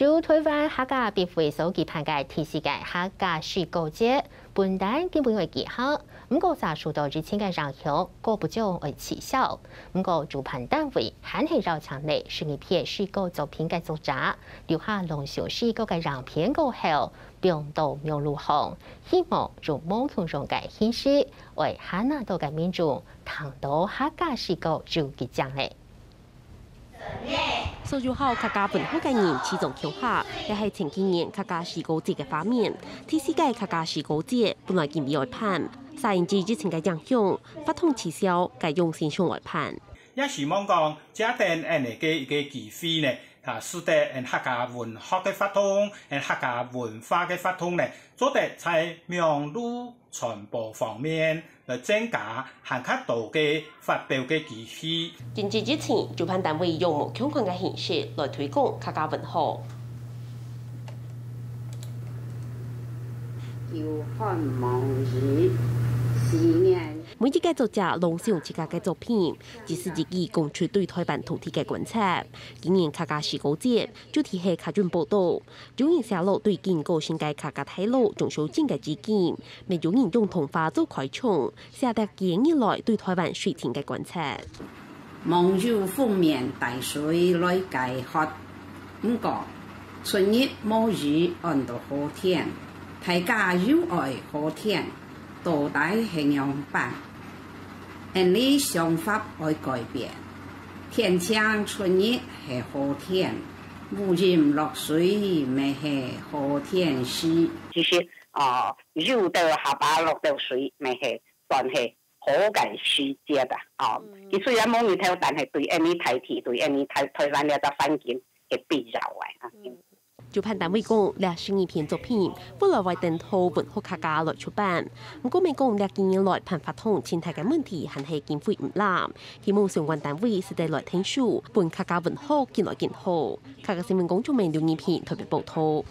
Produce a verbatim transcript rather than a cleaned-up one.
就臺灣客家筆會所舉辦个第四屆客家詩歌節，本旦今晡日會舉行，毋過受到疫情个影響，各部長愛取消。毋過主辦單位還係邀請了十二篇詩歌作品个作者，留下朗誦詩歌个影片過後，放到網路項，希望用無共樣个形式，為還較多个民眾聽到客家詩歌有幾靚个。 所有好客家文學个人齊做共下，這係前幾年客家詩歌節个畫面。第四屆客家詩歌節本來今晡日愛辦，煞因為疫情个影響，活動取消，改用線上來辦。也希望講，藉等恁呢个一个機會呢，啊，使得𠊎客家文學个活動，𠊎客家文化个活動呢，做得在網路傳播方面 來增加還較多个發表个機會。因為疫情，主辦單位用無共款个形式來推廣客家文學。久旱無雨，四年。每一个作者朗誦自家个作品，一字一句講出對臺灣土地个觀察。今年客家詩歌節主題係客運寶島， 有人寫落對今過身个客家大老鍾肇政个致敬，乜有人用童話做開場，寫逐幾日來對臺灣水情个觀察。望有豐綿大水來解渴，毋過春日無雨安到好天，大家又愛好天，到底係仰般？𠊎俚想法愛改變，天晴春日係好天， 烏陰落水乜係好天時。其實，呃，有兜下巴落兜水乜係算係好个時節啊，哦。嗯。佢雖然無日頭，但係對𠊎俚大地，對𠊎俚臺，臺灣這隻環境係必要个啊。嗯。主辦單位講，這十二篇作品，未來會等到文學客家來出版。毋過，乜講這幾年來辦活動，盡大个問題還係經費毋罅，希望相關單位使得來𢯭手，分客家文學緊來緊好。 客家新聞工作人員劉仁平特別報導。